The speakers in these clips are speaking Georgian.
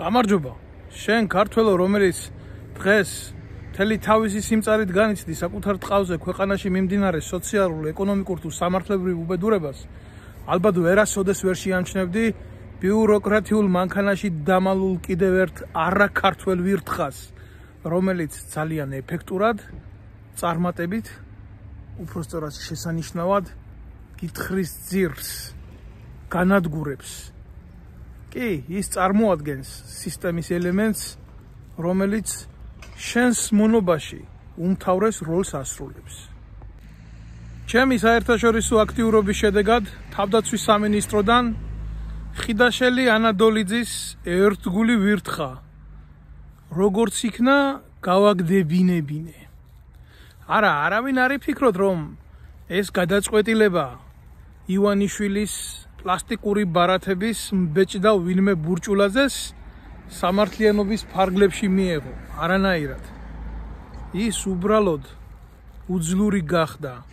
გამარჯობა. შენ ქართველო, რომელიც დღეს მთელი თავისი სიმწარით განიცდი საკუთარ ტყავზე ქვეყანაში მიმდინარე სოციალურ, ეკონომიკურ თუ სამართლებრივ უბედურებას, ალბათ ვერასოდეს ვერ შეამჩნევდი ბიუროკრატიულ მანქანაში დამალულ კიდევ ერთ არაქართველ ვირთხას, რომელიც ძალიან ეფექტურად, წარმატებით, უпростоრად შესანიშნავად კითხრის ძირს განადგურებს. კი, ის წარმოადგენს სისტემის ელემენტს, რომელიც შენს მონობაში უმთავრეს როლს ასრულებს. ჩემი საერთაშორისო აქტიურობის შედეგად თავდაცვის სამინისტროდან ხიდაშელი ანადოლიძის ერთგული ვირთხა, როგორც იქნა გავაგდებინებინე. არავინ არ იფიქროთ, რომ ეს გადაწყვეტილება ივანიშვილის პლასტიკური ბარათების მბეჭდა ვინმე ბურჭულაძეს სამართლიანობის ფარგლებში მიეღო. არანაირად. ის უბრალოდ უძლური გახდა.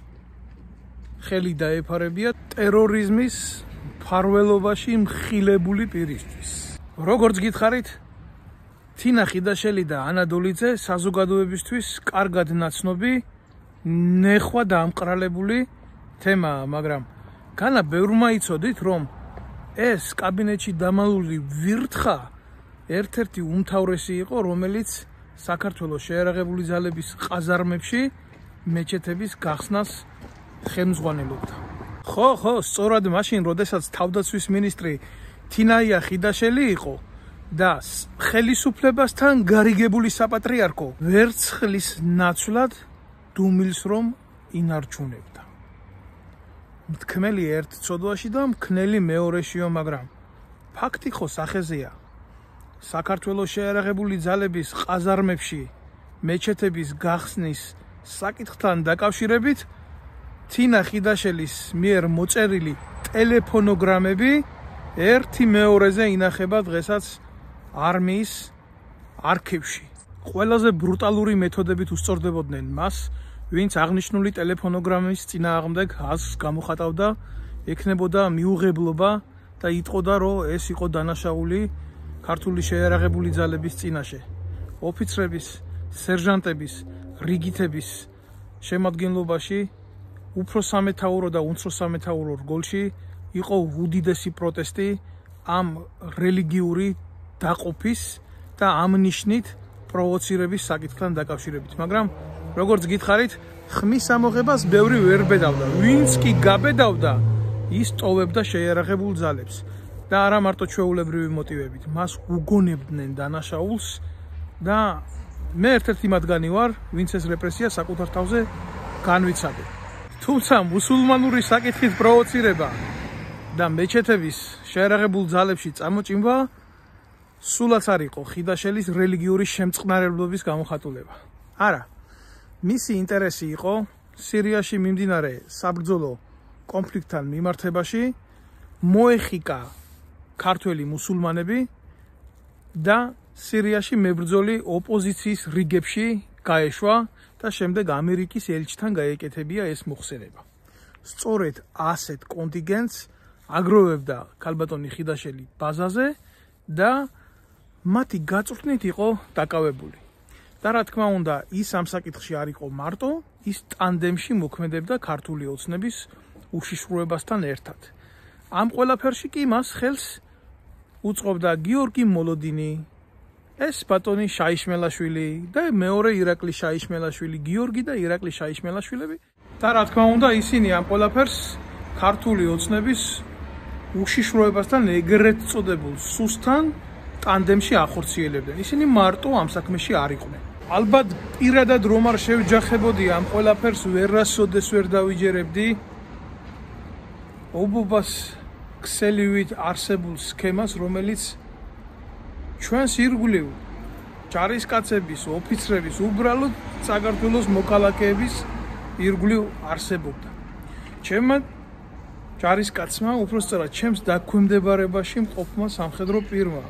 ხელი დაეფარებია ტერორიზმის მფარველობაში მხილებული პირისთვის. როგორც გითხარით, თინა ხიდაშელი და ანადოლიძე საზოგადოებისთვის კარგად ნაცნობი, ნეხვა და ამყრალებული თემაა, მაგრამ განა ბევრმა იცოდით, რომ ეს კაბინეტში დამალული ვირთხა ერთ-ერთი უმთავრესი იყო, რომელიც საქართველოს შეიარაღებული ძალების ყაზარმებში მეჩეთების გახსნას ხელმძღვანელობდა. ხო, სწორად მაშინ, როდესაც თავდაცვის მინისტრი თინაია ხიდაშელი იყო და ხელისუფლებასთან გარიგებული საპატრიარქო ვერცხლის ნაცვლად დუმილს რომ ინარჩუნებდა. მთქმელი ერთ ცოდვაში და მქნელი მეორეშიო, მაგრამ ფაქტი ხო სახეზეა. საქართველოს შეიარაღებული ძალების ყაზარმებში მეჩეთების გახსნის საკითხთან დაკავშირებით თინა ხიდაშელის მიერ მოწერილი ტელეფონოგრამები ერთი მეორეზე ინახება დღესაც არმიის არქივში. ყველაზე ბრუტალური მეთოდებით უსწორდებოდნენ მას, ვინც აღნიშნული ტელეფონოგრამის წინააღმდეგ აზრს გამოხატავდა, ექნებოდა მიუღებლობა და იტყოდა, რომ ეს იყო დანაშაული ქართული შეიარაღებული ძალების წინაშე. ოფიცრების, სერჟანტების, რიგითების შემადგენლობაში უფრო სამეთაურო და უმცროს სამეთაურო რგოლში იყო უდიდესი პროტესტი ამ რელიგიური დაყოფის და ამ ნიშნით პროვოცირების საკითხთან დაკავშირებით. მაგრამ როგორც გითხარით, ხმის ამოღებას ბევრი ვერ ბედავდა. ვინც კი გაბედავდა, ის ტოვებდა შეიარაღებულ ძალებს და არა მარტო ჩვეულებრივი მოტივებით. მას უგონებდნენ დანაშაულს და მე ერთ-ერთი მათგანი ვარ, ვინც ეს რეპრესია საკუთარ თავზე განვიცადე. თუმცა მუსულმანური საკითხით პროვოცირება და მეჩეთების შეიარაღებულ ძალებში წამოჭიმვა სულაც არ იყო ხიდაშელის რელიგიური შემწყნარებლობის გამოხატულება. არა, მისი ინტერესი იყო სირიაში მიმდინარე საბრძოლო კონფლიქტთან მიმართებაში მოეხიკა ქართველი მუსულმანები და სირიაში მებრძოლი ოპოზიციის რიგებში გაეშვა და შემდეგ ამერიკის ელჩთან გაეკეთებია ეს მოხსენება. სწორედ ასეთ კონტინგენტს აგროვებდა ქალბატონი ხიდაშელი ბაზაზე და მათი გაწვრთნით იყო დაკავებული. და რა თქმა უნდა, ის ამ საკითხში არ იყო მარტო, ის ტანდემში მოქმედებდა ქართული ოცნების უშიშროებასთან ერთად. ამ ყველაფერში კი მას ხელს უწყობდა გიორგი მოლოდინი, ეს ბატონი შაიშმელაშვილი და მეორე ირაკლი შაიშმელაშვილი, გიორგი და ირაკლი შაიშმელაშვილები. და რა თქმა უნდა, ისინი ამ ყველაფერს ქართული ოცნების უშიშროებასთან ეგრეთ წოდებულ სუსთან ტანდემში ახორციელებდნენ. ისინი მარტო ამ საქმეში არ იყვნენ. ალბათ პირადად რომ არ შევჯახებოდი ამ ყველაფერს ვერასოდეს ვერ დავიჯერებდი ობობას ქსელივით არსებულ სქემას, რომელიც ჩვენს ირგვლივ ჯარისკაცების, ოფიცრების, უბრალოდ საქართველოს მოქალაქეების ირგვლივ არსებობდა. ჩემმა ჯარისკაცმა, უпростоრად ჩემს დაქვემდებარებაში მყოფმა სამხედრო პირმა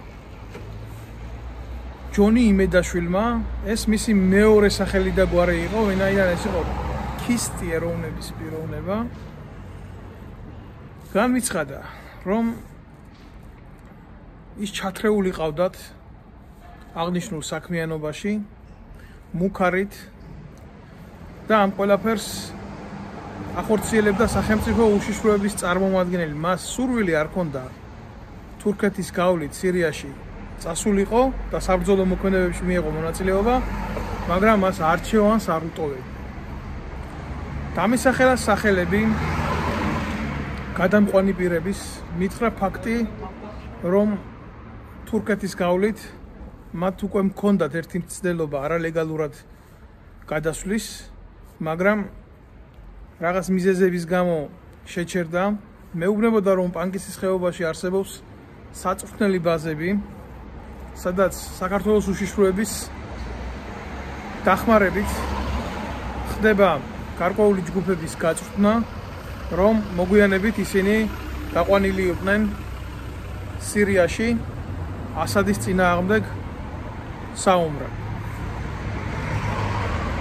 ჯონი იმედაშვილმა, ეს მისი მეორე სახელი და გვარი იყო, ვინაიდან ეს იყო ქისტი ეროვნების პიროვნება, განვიცხადა, რომ ის ჩათრეული ყავდათ აღნიშნულ საქმიანობაში მუქარით და ამ ყველაფერს ახორციელებდა სახელმწიფო უშიშროების წარმომადგენელი. მას სურვილი არ ჰქონდა თურქეთის გავლით სირიაში წასულიყო და საბრძოლო მოქმედებებში მიეღო მონაწილეობა, მაგრამ მას არჩევანს არ უტოვებდა. დამისახელა სახელები გადამყვანი პირების, მითხრა ფაქტი, რომ თურქეთის გავლით მათ უკვე მქონდათ ერთი მცდელობა არალეგალურად გადასვლის, მაგრამ რაღაც მიზეზების გამო შეჩერდა. მეუბნებოდა, რომ პანკისის ხეობაში არსებობს საწვრთნელი ბაზები, სადაც საქართველოს უშიშროების დახმარებით ხდება გარკვეული ჯგუფების გაწვრთნა, რომ მოგვიანებით ისინი გაყვანილი იყვნენ სირიაში ასადის წინააღმდეგ საომრად.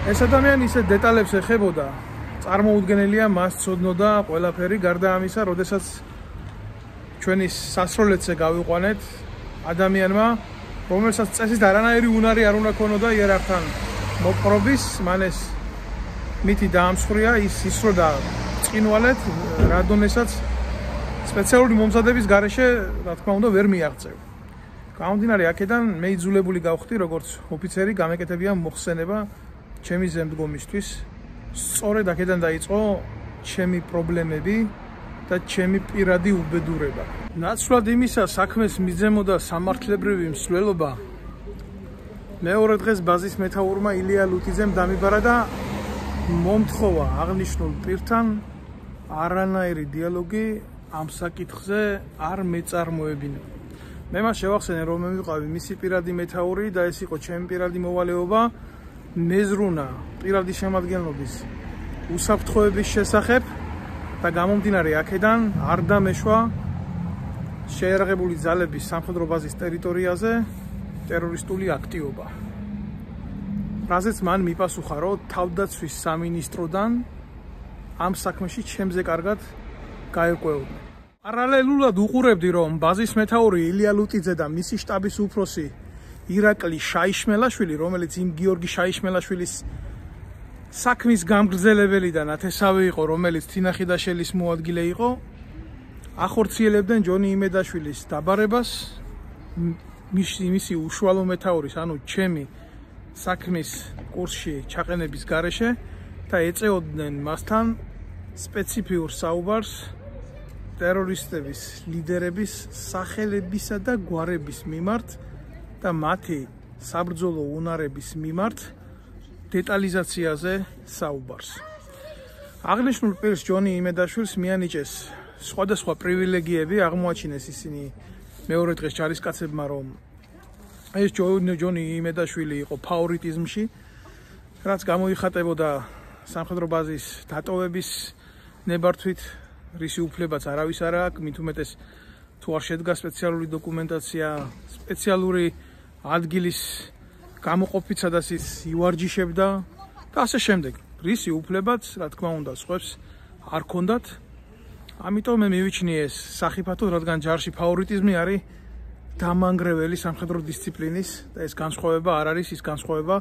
ეს ადამიანი ისე დეტალებს ეხებოდა, წარმოუდგენელია მას ცოდნოდა ყველაფერი, გარდა ამისა, როდესაც ჩვენი სასროლეთზე გავიყვანეთ ადამიანმა, რომელსაც წესით არანაირი უნარი არ უნდა ქონოდა იერარქთან მოპყრობის, მან ეს მითი დაამსხვრია, ის ისროდა წინვალეთ, რადონესაც სპეციალური მომზადების გარეშე, რა თქმა უნდა, ვერ მიაღწევ. გამომდინარე აქედან მე იძულებული გავხდი, როგორც ოფიცერი, გამეკეთებია მოხსენება ჩემი ზემდგომისთვის. სწორედ აქედან დაიწყო ჩემი პრობლემები და ჩემი პირადი უბედურება. ნაცვლად იმისა, საქმეს მიძემოდა სამართლებრივი მსვლელობა, მეორე დღეს ბაზის მეთაურმა ილია ლუტიძემ დამიბარა და მომთხოვა აღნიშნულ პირთან არანაირი დიალოგი ამ საკითხზე არ მეწარმოებინა. მე მას შევახსენე, რომ მე ვიყავი მისი პირადი მეთაური და ეს იყო ჩემი პირადი მოვალეობა მეზრუნა პირადი შემადგენლობის უსაფრთხოების შესახებ და გამომდინარე აქედან არ დამეშვა შეიარაღებული ძალების სამხედრო ბაზის ტერიტორიაზე ტერორისტული აქტივობა. რაზეც მან მიპასუხა, რომ თავდაცვის სამინისტროდან ამ საქმეში ჩემზე კარგად გაერკვეოდნენ. პარალელურად უყურებდი, რომ ბაზის მეთაური ილია ლუტიძე და მისი შტაბის უფროსი ირაკლი შაიშმელაშვილი, რომელიც იმ გიორგი შაიშმელაშვილის საქმის გამგრძელებელი და ნათესავი იყო, რომელიც თინახიდაშელის მოადგილე იყო, ახორციელებდნენ ჯონი იმედაშვილის დაბარებას, მისი უშუალო მეთაურის, ანუ ჩემი საქმის კურსში ჩაყენების გარეშე და ეწეოდნენ მასთან სპეციფიურ საუბარს ტერორისტების ლიდერების სახელებისა და გვარების მიმართ და მათი საბრძოლო უნარების მიმართ დეტალიზაციაზე საუბარს. აღნიშნულ პირს ჯონი იმედაშვილს მიანიჭეს სხვადასხვა პრივილეგიები, აღმოაჩინეს ისინი მეორე დღეს ჯარისკაცებმა, რომ ეს ჯონი იმედაშვილი იყო ფავორიტიზმში, რაც გამოიხატებოდა სამხედრო ბაზის დატოვების ნებართვით, რისი უფლებაც არავის არ აქვს, მით უმეტეს თუ არ შედგა სპეციალური დოკუმენტაცია, სპეციალური ადგილის გამოყოფით, სადაც ის ივარჯიშებდა და ასე შემდეგ. რისი უფლებაც, რა თქმა უნდა, სხვებს არ ქონდათ. ამიტომ მე მივიჩნიე ეს სახიფათოდ, რადგან ჯარში ფავორიტიზმი არის დამანგრეველი სამხედრო დისციპლინის და ეს განსხვავება არ არის ის განსხვავება,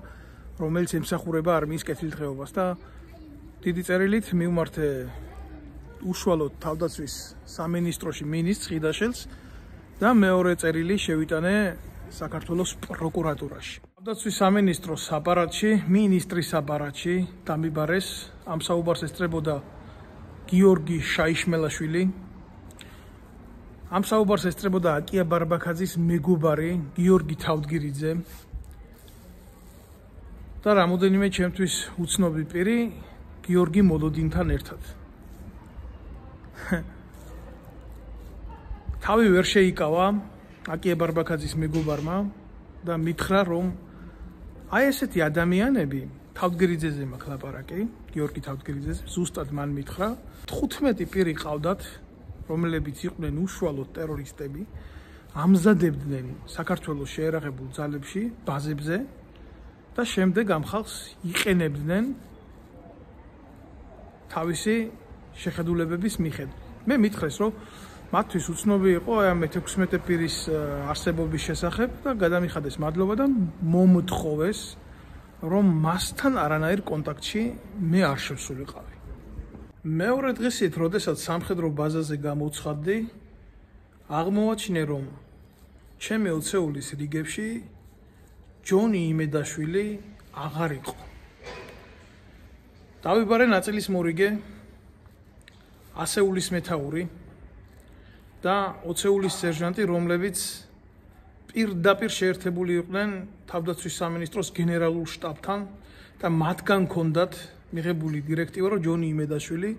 რომელიც ემსახურება არმიის კეთილდღეობას და დიდი წერილით მივმართე უშუალოდ თავდაცვის სამინისტროში მინისტრს ხიდაშელს და მეორე წერილი შევიტანე საქართველოს პროკურატურაში. თავდაცვის სამინისტროს აპარატში, მინისტრის აპარატში დამიბარეს ამ საუბარს ესწრებოდა გიორგი შაიშმელაშვილი. ამ საუბარს ესწრებოდა აკია ბარბაქაძის მეგობარი გიორგი თავდგირიძე და რამოდენიმე ჩემთვის უცნობი პირი გიორგი მოლოდინთან ერთად. თავი ვერ შეიკავა აკია ბარბაქაძის მეგობარმა და მითხრა, რომ აი ესეთი ადამიანები თავდგირიძეზე მაქვს ლაპარაკი, გიორგი თავდგირიძეზე, ზუსტად მან მითხრა, 15 პირი ყავდათ, რომლებიც იყვნენ უშუალოდ ტერორისტები, ამზადებდნენ საქართველოს შეიარაღებულ ძალებში, ბაზებზე და შემდეგ ამ ხალხს იყენებდნენ თავისი შეხედულებების მიხედვით. მე მითხრეს, რომ მათთვის უცნობი იყო ამ 16 პირის არსებობის შესახებ და გადამიხადეს მადლობა და მომთხოვეს რომ მასთან არანაირ კონტაქტში მე არ შევსულიყავი. მეორე დღისით, როდესაც სამხედრო ბაზაზე გამოცხადდი, აღმოვაჩინე რომ ჩემი ოცეულის რიგებში ჯონი იმედაშვილი აღარ იყო. დავიბარე ნაწილის მორიგე, ასეულის მეთაური და ოცეულის სერჟანტი, რომლებიც პირდაპირ შეერთებული იყვნენ თავდაცვის სამინისტროს გენერალურ შტაბთან და მათგან ჰქონდათ მიღებული დირექტივა, რომ ჯონი იმედაშვილი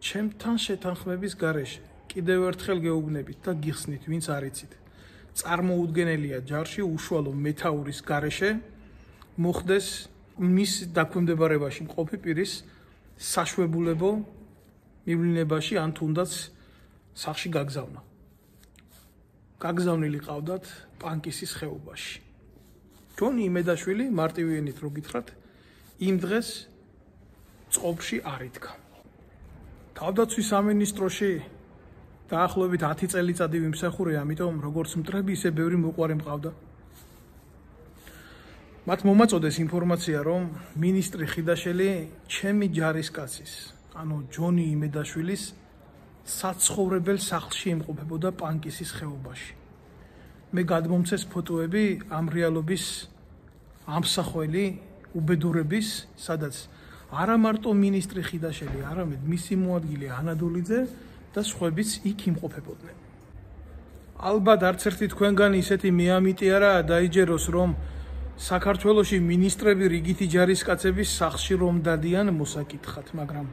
ჩემთან შეთანხმების გარეშე კიდევ ერთხელ გეუბნებით და გიხსნით, ვინც არიცით, წარმოუდგენელია ჯარში უშუალო მეთაურის გარეშე მოხდეს მის დაქვემდებარებაში მყოფი პირის საშვებულებო მივლინებაში ან თუნდაც სახლში გაგზავნა. გაგზავნილი ყავდათ პანკისის ხეობაში. ჯონი იმედაშვილი, მარტივიანით რო გითხრათ, იმ დღეს წყობში არ იდგა. თავდაცვის სამინისტროში დაახლოებით 10 წელიწადი ვიმსახურე, ამიტომ როგორც მტრები, ისე ბევრი მოყვარე მყავდა. მათ მომაწოდეს ინფორმაცია, რომ მინისტრი ხიდაშელი ჩემი ჯარისკაცის, ანუ ჯონი იმედაშვილის საცხოვრებელ სახლში იმყოფებოდა პანკისის ხეობაში. მე გადმომცეს ფოტოები ამ რეალობის ამსახველი უბედურების, სადაც არა მარტო მინისტრი ხიდაშელი, არამედ მისი მოადგილე ანადოლიძე და სხვაებიც იქ იმყოფებოდნენ. ალბათ არც ერთი თქვენგანი ისეთი მეამიტი არა დაიჯეროს, რომ საქართველოში მინისტრები რიგითი ჯარისკაცების სახლში რომ დადიან მოსაკითხად, მაგრამ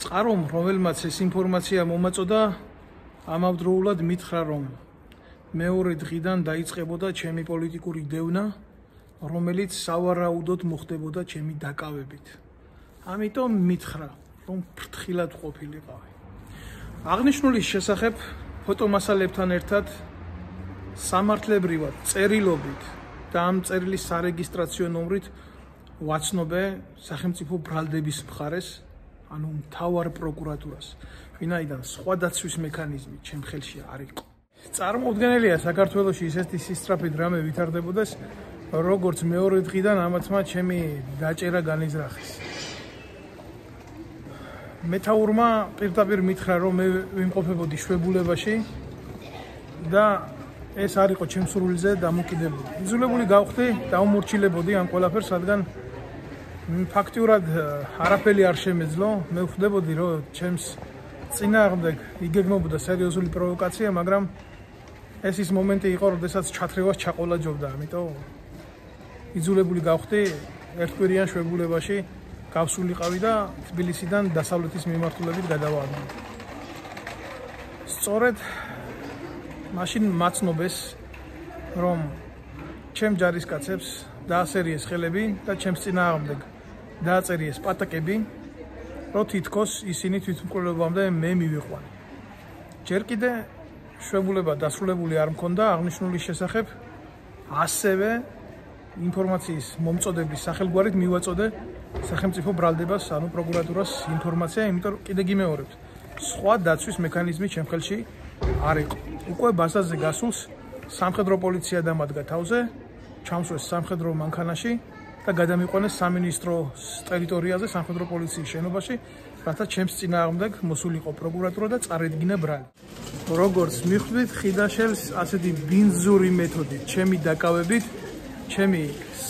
წყარომ, რომელმაც ეს ინფორმაცია მომაწოდა, ამავდროულად მითხრა, რომ მეორე დღიდან დაიწყებოდა ჩემი პოლიტიკური დევნა, რომელიც სავარაუდოდ მოხდებოდა ჩემი დაკავებით. ამიტომ მითხრა, რომ ფრთხილად ყოფილიყავი. აღნიშნულის შესახებ ფოტომასალებთან ერთად სამართლებრივად წერილობით და ამ წერილის სარეგისტრაციო ნომრით ვაცნობე სახელმწიფო ბრალდების მხარეს, ანუ მთავარ პროკურატურას, ვინაიდან სხვა დაცვის მექანიზმი ჩემ ხელში არ იყო. წარმოუდგენელია საქართველოში ისეთი სისწრაფით რამე ვითარდებოდეს, როგორც მეორე დღიდან ამათმა ჩემი დაჭერა განიზრახეს. მეთაურმა პირდაპირ მითხრა, რომ მე ვიმყოფებოდი შვებულებაში და ეს არ იყო ჩემს სრულიზე დამოკიდებული. იძულებული გავხდი დავმორჩილებოდი ამ ყველაფერს, რადგან ფაქტიურად არაფერი არ შემეძლო. მე ვხვდებოდი, რომ ჩემს წინააღმდეგ იგეგმებოდა სერიოზული პროვოკაცია, მაგრამ ეს ის მომენტი იყო, როდესაც ჩათრევას ჩაყოლაჯობდა, ამიტომ იძულებული გავხდი ერთკვირიან შვებულებაში გავსულიყავი და თბილისიდან დასავლეთის მიმართულებით გადავარდა. სწორედ მაშინ მაცნობეს, რომ ჩემ ჯარისკაცებს დაასერიეს ხელები და ჩემს წინააღმდეგ დააწერიეს პატაკები, რომ თითქოს ისინი თვითმკვლელობამდე მე მივიყვანე. ჯერ კიდე შვებულება დასრულებული არ მქონდა აღნიშნულის შესახებ, ასევე ინფორმაციის მომწოდების სახელგვარით მივაწოდე სახელმწიფო ბრალდებას, ანუ პროკურატურას ინფორმაცია, იმიტომ კიდე გიმეორებთ, სხვა დაცვის მექანიზმი ჩემ ხელში არ იყო. უკვე ბაზაზე გასულს სამხედრო პოლიცია დამადგა თავზე, ჩამსვეს სამხედრო მანქანაში და გადამიყვანეს სამინისტროს ტერიტორიაზე, სამხედრო პოლიციის შენობაში, რათა ჩემს წინააღმდეგ მოსულიყო პროკურატურა და წარედგინა ბრალი. როგორც მიხვდით, ხიდაშელს ასეთი ბინძური მეთოდით, ჩემი დაკავებით, ჩემი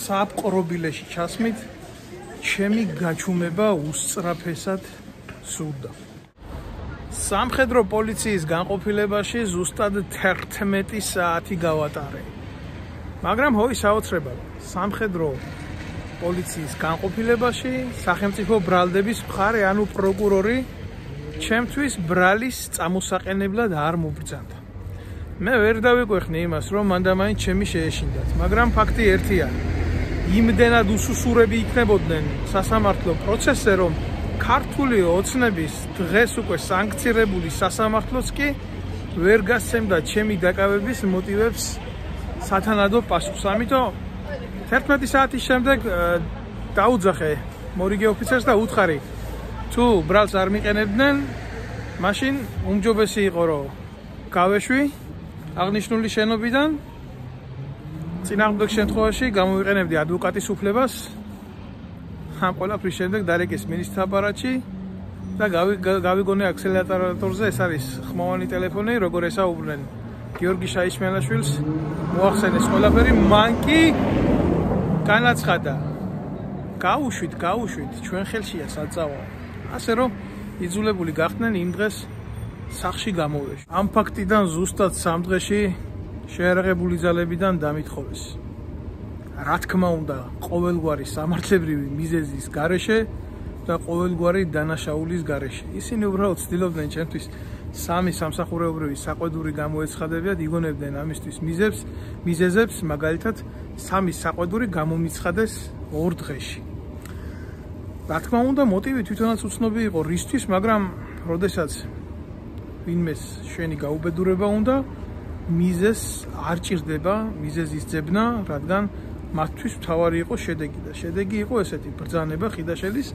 საპყრობილეში ჩასმით, ჩემი გაჩუმება უსწრაფესად სურდა. სამხედრო პოლიციის განყოფილებაში ზუსტად 11 საათი გავატარე. მაგრამ ჰოი საოცრებად, სამხედრო პოლიციის განყოფილებაში სახელმწიფო ბრალდების მხარე, ანუ პროკურორი, ჩემთვის ბრალის წამოსაყენებლად არ მობრძანდა. მე ვერ დავიკვეხნი იმას, რომ მანდამაინც ჩემი შეეშინდათ, მაგრამ ფაქტი ერთია. იმდენად უსუსურები იქნებოდნენ სასამართლო პროცესზე, რომ ქართული ოცნების დღეს უკვე სანქცირებული სასამართლოც კი ვერ გასცემდა ჩემი დაკავების მოტივებს სათანადო პასუხს. ამიტომ 11 საათის შემდეგ დაუძახე მორიგე ოფიცერს და უთხარი, თუ ბრალს არ მიყენებდნენ, მაშინ უმჯობესი იყო რომ გავეშვი აღნიშნული შენობიდან წინააღმდეგ შემთხვევაში გამოვიყენებდი ადვოკატის უფლებას ამ ყველაფრის შემდეგ დარეკეს მინისტრთა აპარატში და გავიგონე აქსელერატორზე ეს არის ხმოვანი ტელეფონი როგორ ესაუბრნენ გიორგი შაიშმელაშვილს მოახსენეს ყველაფერი მან კი განაცხადა გაუშვით ჩვენ ხელშია საწავა ასე რომ იძულებული გახდნენ იმ დღეს სახში გამოვეშვ ამ ფაქტიდან ზუსტად 3 დღეში შეერაღებული ძალებიდან დამითხოვეს რა თქმა უნდა ყოველგვარი სამართლებრივი მიზეზის გარეშე და ყოველგვარი დანაშაულის გარეშე ისინი უბრალოდ ცდილობდნენ ჩემთვის სამი სამსახურეობრივი საყვედური გამოეცხადებიათ იგონებდნენ ამისთვის მიზეზებს მაგალითად სამი საყვედური გამომიცხადეს 2 დღეში რა თქმა უნდა მოტივი თვითონაც უცნობი იყო რისთვის მაგრამ როდესაც ვინმეს შენი გაუბედურება უნდა მიზეზს არ ჭირდება მიზეზის ძებნა რადგან მათთვის მთავარი იყო შედეგი და შედეგი იყო ესეთი ბრძანება ხიდაშელის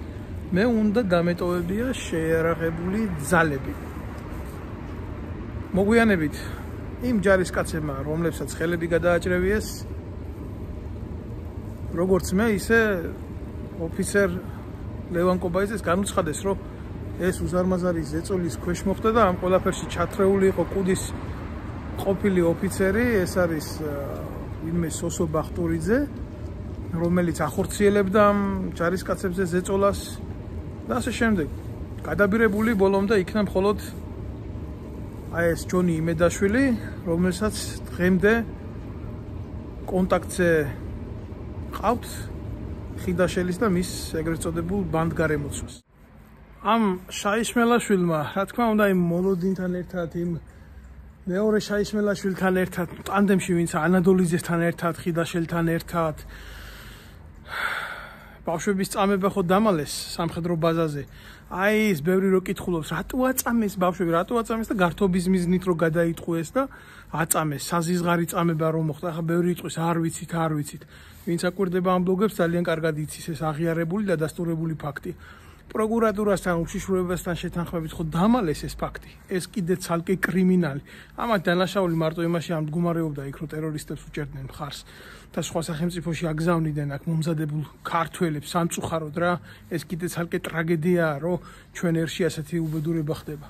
მე უნდა დამეტოვებია შეერაღებული ძალები მოგვიანებით იმ ჯარისკაცებმა რომლებსაც ხელები გადააჭრევიეს როგორც მე ისე ოფიცერ ლევან კობაიძეს განუცხადეს რომ ეს უზარმაზარი ზეწოლის ქვეშ მოხდა და ამ ყველაფერში ჩათრეული იყო კუდის ყოფილი ოფიცერი ეს არის ვინმე სოსო ბახტურიძე რომელიც ახორციელებდა ამ ჯარისკაცებზე ზეწოლას და ასე შემდეგ გადაბირებული ბოლომდე იქნა მხოლოდ აი ეს ჯონი იმედაშვილი რომელსაც დღემდე კონტაქტზე ყავთ ხიდაშელის და მის ეგრეთ წოდებულ ბანდგარემოცვას ამ შაიშმელაშვილმა რა თქმა უნდა იმ მოლოდინთან ერთად იმ მეორე შაიშმელაშვილთან ერთად ტანდემში ვინც ანადოლიძესთან ერთად ხიდაშელთან ერთად ბავშვების წამება ხო დამალეს სამხედრო ბაზაზე აი ეს ბევრი რო კითხულობს რატო აწამეს ბავშვები რატო აწამეს და გართობის მიზნით რო გადაიტყვეს და აწამეს საზიზღარი წამება რომ მოხდა ახლა ბევრი იტყვის არ ვიცით ვინც აკვირდება ამ ბლოგებს ძალიან კარგად იცის ეს აღიარებული და დასტურებული ფაქტი პროკურატურასთან უშიშროებასთან შეთანხმებით ხო დამალეს ეს ფაქტი ეს კიდე ცალკე კრიმინალი ამათ დანაშაული მარტო იმაში ამ მდგომარეობდა იქ რომ ტერორისტებს უჭერდნენ მხარს და სხვა სახელმწიფოში აგზავნიდნენ აქ მომზადებულ ქართველებს სამწუხაროდ რა ეს კიდე ცალკე ტრაგედიაა რომ ჩვენ ერში ასეთი უბედურება ხდება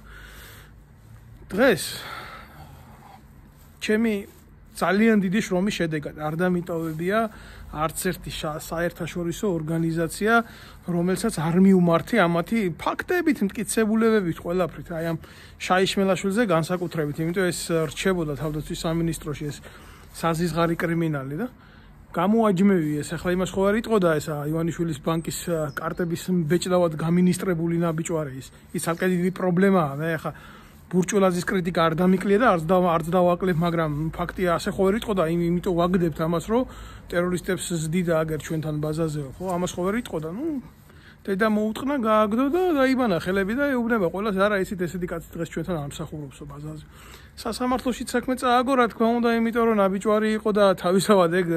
დღეს ჩემი ძალიან დიდი შრომის შედეგად არ დამიტოვებია არც ერთი საერთაშორისო ორგანიზაცია რომელსაც არ მიუმართი ამათი ფაქტებით მტკიცებულებებით ყველაფრით აი ამ შაიშმელაშვილზე განსაკუთრებით იმიტომ ეს რჩებოდა თავდაცვის სამინისტროში ეს საზიზღარი კრიმინალი და გამოაჯმევი ეს ახლა იმას ხო არ იტყოდა ეს ივანიშვილის ბანკის კარტების ბეჭდავად გამინისტრებული ნაბიჯვარი ის ალკე დიდი პრობლემაა მე ახლა ბურჭულაძის კრიტიკა არ დამიკლია და არც დავაკლებ მაგრამ ფაქტია ასე ხო ვერ იტყოდა იმიტომ ვაგდებთ ამას რომ ტერორისტებს ზდიდა აგერ ჩვენთან ბაზაზეო ხო ამას ხო ვერ იტყოდა ნუ დედა მოუტყნა გააგდო და დაიბანა ხელები და ეუბნება ყველას არა იცით ესეთი კაცი დღეს ჩვენთან ამსახურობსო ბაზაზე სასამართლოშიც საქმე წააგო რა თქმა უნდა იმიტომ რომ ნაბიჯვარი იყო და თავისთავად ეგ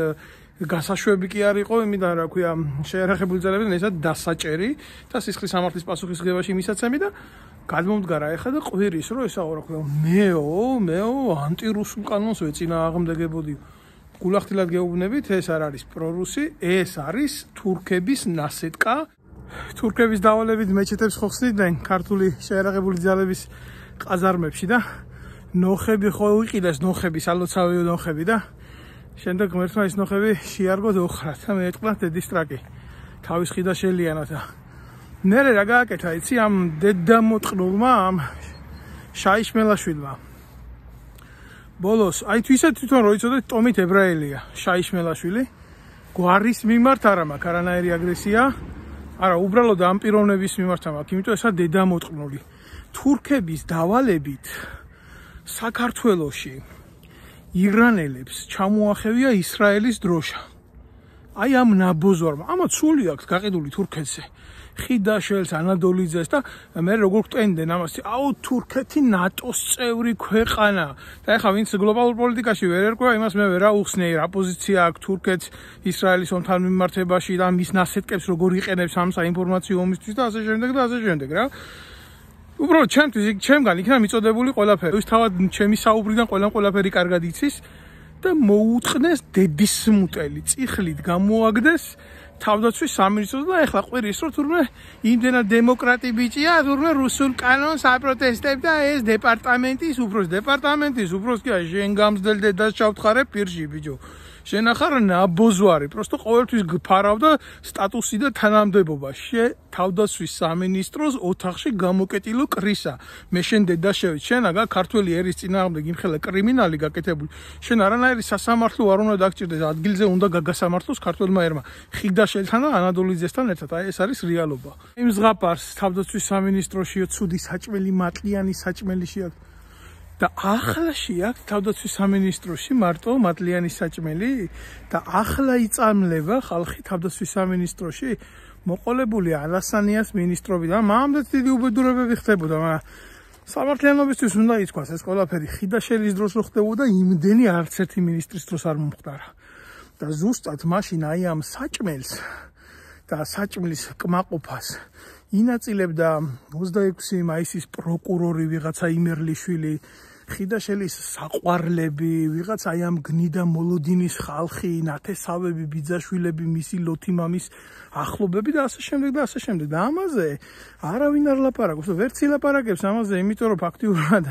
გასაშვები კი არ იყო იმიდან რა ქვია შეერაღებული ძალებიდან ესა დასაჭერი და სისხლის სამართლის პასუხისმგებაში მისაცემი და გადმომდგარა ეხა და ყვირის რომ ესაო რა ქვია მეო ანტირუსულ კანონს ვეწინააღმდეგებოდი გულახდილად გეუბნებით ეს არ არის პრორუსი ეს არის თურქების ნასეტკა თურქების დავალებით მეჩეთებს ხო ხსნიდნენ ქართული შეერაღებული ძალების ყაზარმებში და ნოხები ხო უიყიდეს ნოხები სალოცავი ნოხები და შემდეგ ღმერთმა ის ნოხები შეარგო ოხრად და მეეთყლა დედის ტრაკი თავის ხიდაშელიანად მერე რა გააკეთა იცი ამ დედამოტყნულმა ამ შაიშმელაშვილმა ბოლოს აი თვითონ რო იცოდეთ ტომით ებრაელია შაიშმელაშვილი გვარის მიმართ არა მაქვს არანაირი აგრესია არა უბრალოდ ამ პიროვნების მიმართ მაქვს იმიტომ ესა დედამოტყნული თურქების დავალებით საქართველოში ირანელებს ჩამოახევია ისრაელის დროშა აი ამ ნაბოზვარმა ამათ სული აქვს გაყიდული თურქეთზე ხიდაშელს ანადოლიძეს და მე როგორ გვტენდნენ ამას აუ თურქეთი ნატოს წევრი ქვეყანა და ეხლა ვინც გლობალურ პოლიტიკაში ვერ ერკვევა იმას მე ვერ აუხსნეი რა პოზიცია აქვს თურქეთს ისრაელის ომთან მიმართებაში და მის ნასეტკებს როგორ იყენებს ამ საინფორმაციო ომისთვის და ასე შემდეგ რა უბრალოდ ჩემგან იქნა მიწოდებული ყველაფერი. ის თავად ჩემი საუბრიდან ყველაფერი კარგად იცის და მოუწყნეს დედის მუტელი, წიხლით გამოაგდეს თავდაცვის სამინისტროს და ეხლა ყვირის რომ თურმე იმდენად დემოკრატი ბიჭია, თურმე რუსულ კანონს აპროტესტებდა ეს დეპარტამენტის უფროს კი შენ გამძდელ დედას ჩავთხარე პირში ბიჭო. შენ ახარ ნაბოზვარი, просто ყოველთვის გფარავდა სტატუსი და თანამდებობა. თავდაცვის სამინისტროს ოთახში გამოკეტილო კრისა. მე შენ დედა შევით, შენ აგა ქართველი ერის წინააღმდეგ იმხელა კრიმინალი გაკეთებული. შენ არანაირი სასამართლო არ უნდა დაგჭირდეს, ადგილზე უნდა გაგასამართლოს ქართველმა ერმა. ხიდაშელთან და ანადოლიძესთან ერთად. აი ეს არის რეალობა. იმ ზღაპარს თავდაცვის სამინისტროშიო ცუდი საჭმელი მატლიანი საჭმელი შეაქვს. და ახლა შეაქვს თავდაცვის სამინისტროში მარტო მატლიანი საჭმელი და ახლა იწამლება ხალხი თავდაცვის სამინისტროში მოყოლებული ალასანიას მინისტრობიდან. მამამდეც დიდი უბედურებები ხდებოდა, მაგრამ სამართლიანობისთვის უნდა ითქვას ეს ყველაფერი ხიდაშელის დროს რო ხდებოდა, იმდენი არც ერთი მინისტრის დროს არ მომხდარა. და ზუსტად მაშინ აი ამ საჭმელს და საჭმლის კმაყოფას ინაწილებდა 26 მაისის პროკურორი ვიღაცა იმერლიშვილი, ხიდაშელის საყვარლები, ვიღაცა აი ამ გნიდა მოლოდინის ხალხი, ნათესავები, ბიძაშვილები, მისი ლოთიმამის ახლობები და ასე შემდეგ და ასე შემდეგ. და ამაზე არავინ არ ლაპარაკობს, ვერც ილაპარაკებს ამაზე, იმიტომ რომ ფაქტიურად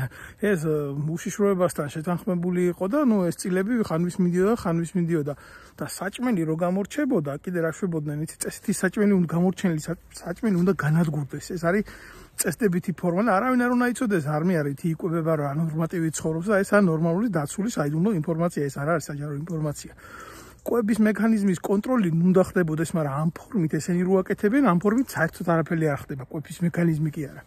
ეს უშიშროებასთან შეთანხმებული იყო და ეს წილები ხანვის მიდიოდა და საჭმელი რო გამორჩებოდა, კიდე რა შვებოდნენ, იცი წესითი საჭმელი უნდა გამორჩენილი საჭმელი უნდა განადგურდეს. ეს არის წესდებითი ფორმა და არავინ არ უნდა იცოდეს, არ მე არის იკვებება რა ნორმატივი ცხოვრობს და ეს არის ნორმალური დაცული საიდუმლო ინფორმაცია, ეს არ არის საჯარო ინფორმაცია. კვების მექანიზმის კონტროლი უნდა ხდებოდეს, მაგრამ ამ ფორმით ესენი რო აკეთებენ, ამ ფორმით საერთოდ არაფერი არ ხდება, კვების მექანიზმი კი არა.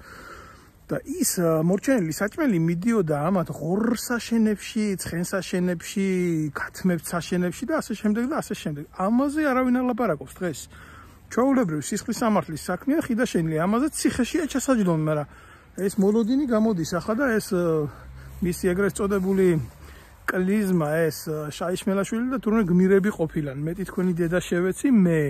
და ის მორჩენილი საჭმელი მიდიოდა ამათ ღორსაშენებში, ცხენსაშენებში, ქათმებსაშენებში და ასე შემდეგ და ასე შემდეგ. ამაზე არავინ არ ლაპარაკობს დღეს. ჩვეულებრივ სისხლის სამართლის საქმეა ხიდაშენილი, ამაზე ციხეშია ჩასაჯდომი, მაგრამ ეს მოლოდინი გამოდის ახლა და ეს მისი ეგრეთ წოდებული კლიზმა, ეს შაიშმელაშვილი და თურმე გმირები ყოფილან. მეტი თქვენი დედა შევეცი მე.